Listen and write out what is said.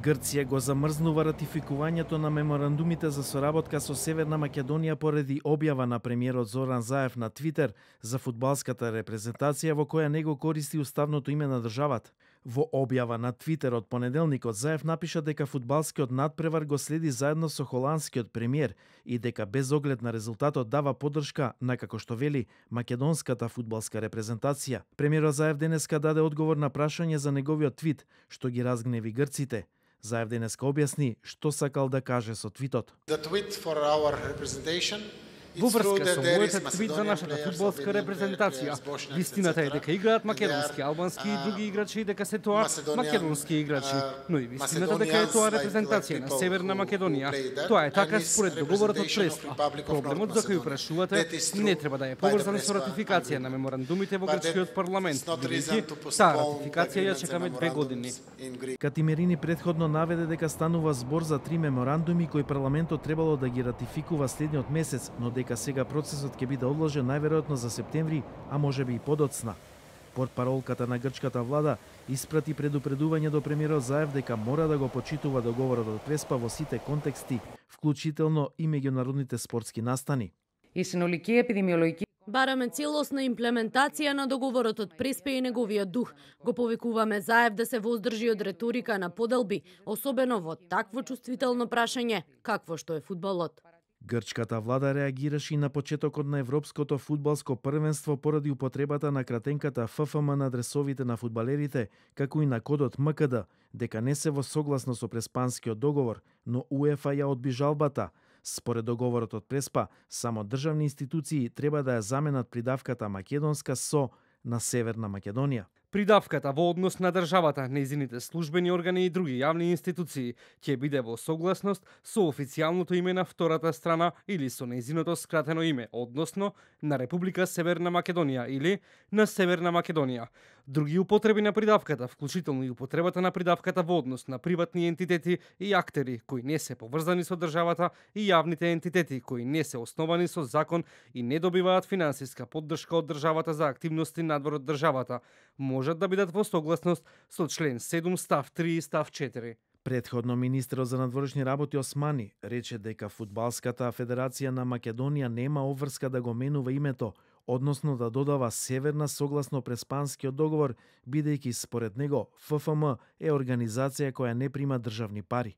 Грција го замрзнува ратификувањето на меморандумите за соработка со Северна Македонија поради објава на премиерот Зоран Заев на Твитер за фудбалската репрезентација во која него користи уставното име на државата. Во објава на Твитер од понеделникот Заев напиша дека фудбалскиот надпревар го следи заедно со холандскиот премиер и дека без оглед на резултатот дава поддршка на, како што вели, македонската фудбалска репрезентација. Премиерот Заев денеска даде одговор на прашање за неговиот твит, што ги разгневи грците. Заев денеска објасни што сакал да каже со твитот. Во врска со мојот твит за нашата фудбалска репрезентација, вистината е дека играат македонски, албански и други играчи и дека се тоа македонски играчи, но и вистината дека е тоа репрезентација на Северна Македонија. Тоа е така според договорот од Преспа. Проблемот за кој прашувате не треба да е поврзан со ратификација на меморандумите во грчкиот парламент, бидејќи таа ратификација ја чекаме 2 години. Катимерини претходно наведе дека станува збор за 3 меморандуми кои парламентот требало да ги ратификува следниот месец, но дека сега процесот ќе биде одложен најверојатно за септември, а можеби и подоцна. Портпаролката на грчката влада испрати предупредување до премиерот Заев дека мора да го почитува договорот од Преспа во сите контексти, вклучително и меѓународните спортски настани. Бараме целосна имплементација на договорот од Преспа и неговиот дух. Го повикуваме Заев да се воздржи од реторика на поделби, особено во такво чувствително прашање, какво што е фудбалот. Грчката влада реагираше и на почетокот на Европското фудбалско првенство поради употребата на кратенката ФФМ на адресовите на фудбалерите, како и на кодот МКД, дека не се во согласно со преспанскиот договор, но УЕФА ја одби жалбата. Според договорот од Преспа, само државни институции треба да ја заменат придавката македонска со на Северна Македонија. Придавката во однос на државата, нејзините службени органи и други јавни институции ќе биде во согласност со официјалното име на втората страна или со нејзиното скратено име, односно на Република Северна Македонија или на Северна Македонија. Други употреби на придавката, вклучително и употребата на придавката во однос на приватни ентитети и актери кои не се поврзани со државата и јавните ентитети кои не се основани со закон и не добиваат финансиска поддршка од државата за активности надвор од државата, можат да бидат во согласност со член 7 став 3 и став 4. Предходно министерот за надворешни работи Османи рече дека фудбалската федерација на Македонија нема обврска да го менува името, односно да додава Северна согласно преспанскиот договор, бидејќи според него ФФМ е организација која не прима државни пари.